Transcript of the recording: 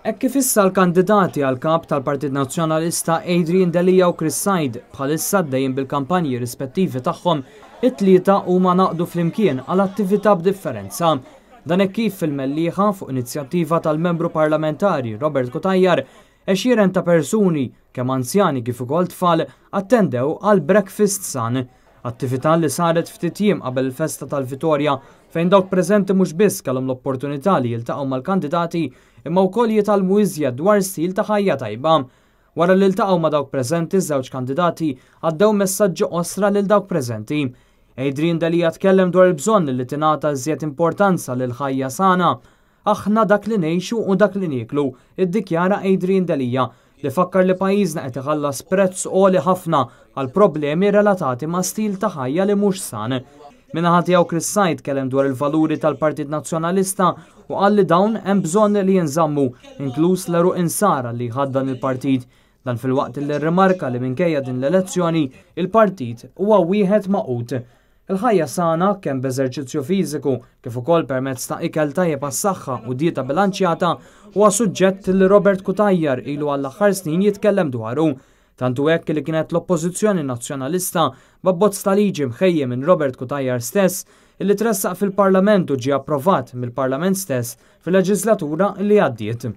Hekk kif issa l-kandidati għal kap tal-Partit Nazzjonalista Adrian Delia u Chris Said bħalissa għaddejjin bil-kampanji rispettivi tagħhom, it-tlieta huma ngħaqdu flimkien għal attività b'differenza. Dan hekk kif fil-Mellieħa, fuq inizjattiva tal-Membru Parlamentari Robert Cutajar, għexieren ta' persuni, kemm anzjani kif ukoll tfal, attendew għal Breakfast San. Attività li saret ftit jiem qabel il-festa tal-Vitorja fejn dawk preżenti mhux biss kellhom l-opportunità li jiltaqgħu mal-kandidati imma wkoll jitgħallmu iżjed dwar stil ta' ħajja tajba. Wara li ltaqgħu ma' dawk preżenti ż-żewġ kandidati għaddew messaġġi qosra lil dawk preżenti. Adrian Delia tkellem dwar il-bżonn li tingħata iżjed importanza lil ħajja sana. Aħna dak li ngħixu u dak li nieklu, iddikjara Adrian Delia, li fakkar li pajjiżna qed iħallas prezz għoli ħafna għal problemi relatati ma' stil ta' ħajja li mhux san. Min-naħa tiegħu Chris Said tkellem dwar il-valuri tal-Partit Nazzjonalista u qal li dawn hemm bżonn li jinżammu, inkluż l-għeruq insara li jħaddan il-partit. Dan filwaqt li rrimarka li minkejja din l-elezzjoni, il-partit huwa wieħed magħqud. Il-ħajja sana, kemm b'eżerċizzju fiżiku kif ukoll permezz ta' ikel tajjeb għas-saħħa u dieta bilanċjata, huwa suġġett li Robert Cutajar ilu għall-aħħar snin jitkellem dwaru. Tant hu hekk li kienet l-Oppożizzjoni Nazzjonalista b'abbozz ta' liġi mħejji minn Robert Cutajar stess illi tressaq fil-Parlament u ġie approvat mill-Parlament stess fil-leġislatura li għaddiet.